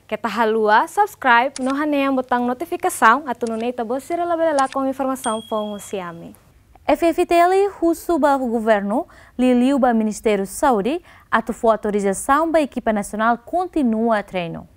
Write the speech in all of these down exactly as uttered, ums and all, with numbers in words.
Keta haluha subscribe no hanehan butaun notifikasaun atu nune'e ita-boot sira labele lakon informasaun foun husi ami. F F T L husu ba governu, liuliu ba Ministériu Saúde, atu fó autorizasaun ba ekipa nasionál kontinua treinu.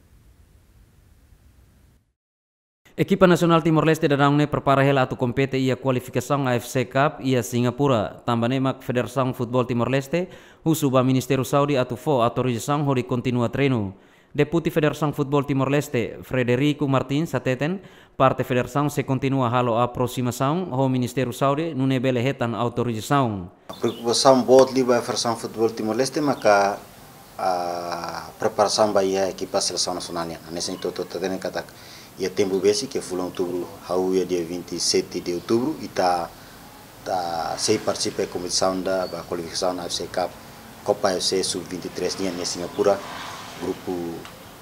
Ekipa nasionál Timor-Leste daudaun ne'e prepara hela atu kompete iha kualifikasaun A F C Cup iha Singapura. Tanba ne'e mak Federasaun Futeból Timor-Leste husu ba Ministériu Saúde atu fó autorizasaun hodi kontinua treinu. Depute Federasaun Futeból Timor-Leste, Frederico Martins, hateten, parte federasaun sei kontinua halo aprosimasaun ho Ministériu Saúde nune'e bele hetan autorizasaun. Preokupasaun boot liu ba Federasaun Futeból Timor-Leste maka, ah, preparasaun ba iha ekipa selesaun nasionál nian. Hanesan ita hotu hatene katak iha tempu besik, ke fulan outubru, hahú iha dia vinte e sete de outubro, ita, ita sei partisipa kompetisaun ida ba kualifikasaun A F C Cup, Copa A F C sub vinte e três nian iha Singapura, grupu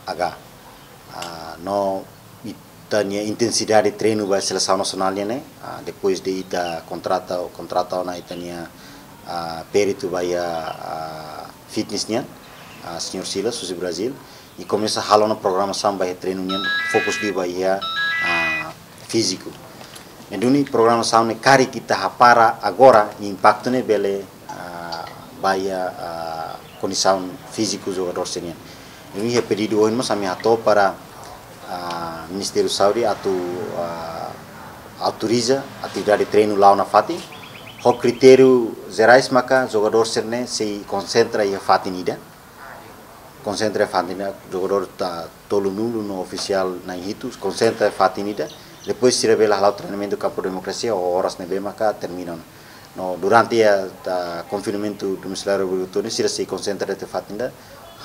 H. Ah, no ita-nia intensidade treinu ba selesaun nasionál nian ne'e, ah, depois de ita kontrata, kontrata ona ita-nia, ah, peritu ba iha, ah, fitness nian, ah, señór Silas, husi Brazil, i komesa halo ona programasaun ba iha treinu nian, fokus liu ba iha, ah, fíziku. Ne'e duni programasaun ne'e karik ita hapara agora, impaktu ne'e bele, ah, ba iha, ah, kondisaun fíziku jogadór sira-nian. Ne'e duni iha pedidu ohin mós ami hato'o para, ah, Ministériu Saúde atu, ah, autoriza atividade treinu la'o nafatin. Ho kritériu jerais maka jogadór sira-ne'e sei konsentra iha fatin ida. Konsentra iha fatin ida, jogadór tolunulu no ofisiál na'in hitu, konsentra iha fatin ida. Depois sira bele hala'o treinamentu kampu demokrasia ho oras ne'ebé maka termina ona. No durante iha, ah, konfinamentu domiciliáriu obrigatóriu sira sei konsentra iha fatin ida,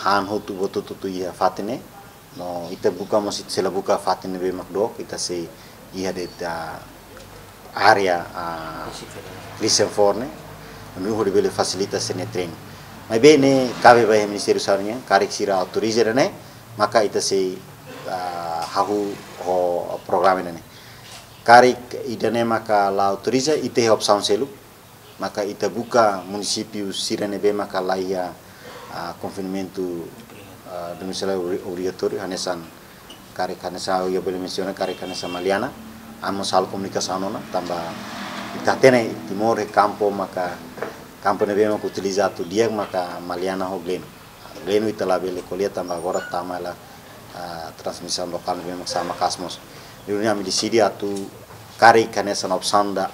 han hotu buat hotu iha fatin ne'e. No ita buka mós, ita sei la buka fatin ne'ebé mak dook, ita sei iha de'it, ah, área, ah, Christian Ford ne'e, no hodi bele fasilita sira-nia treinu. Maibé ne'e kabe ba iha Ministériu Saúde nian, karik sira autoriza ida-ne'e, maka ita sei, ah, hahú ho programa ida-ne'e. Karik ida-ne'e maka la autoriza, ita iha opsaun seluk, maka ita buka munisípiu sira ne'ebé maka la iha, ah, konfinamentu, ah, domiciliáriu obri-, obrigatóriu, hanesan karik hanesan ha'u bele mensiona, karik hanesan Maliana, ami mós halo komunikasaun ona, tanba ita hatene Timor iha kampu maka, kampu ne'ebé maka utiliza atu di'ak maka Maliana ho Gleno. Gleno ita labele ko'alia tanba agora tama hela, ah, transmisaun lokál ne'ebé mak sama kasu mós. Ne'e duni ami deside atu karik hanesan opsaun ida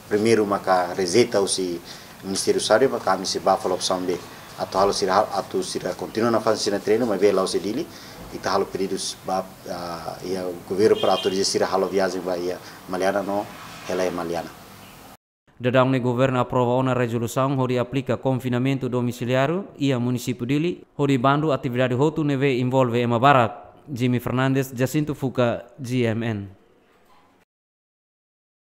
primeiru maka rejeita husi Ministériu Saúde, maka ami sei bá fali opsaun B. Atu halo sira hal-, atu sira kontinua nafatin sira-nia treinu, maibé la'ós iha Dili, ita halo pedidu ba, ah, iha governu para autoriza sira halo viajen ba iha Maliana no hela iha Maliana. Daudaun ne'e governu aprova ona rezolusaun hodi aplika konfinamentu domiciliáriu iha munisípiu Dili, hodi bandu atividade hotu ne'ebé envolve ema barak. Jimmy Fernandes, Jacinto Fuca, G M N.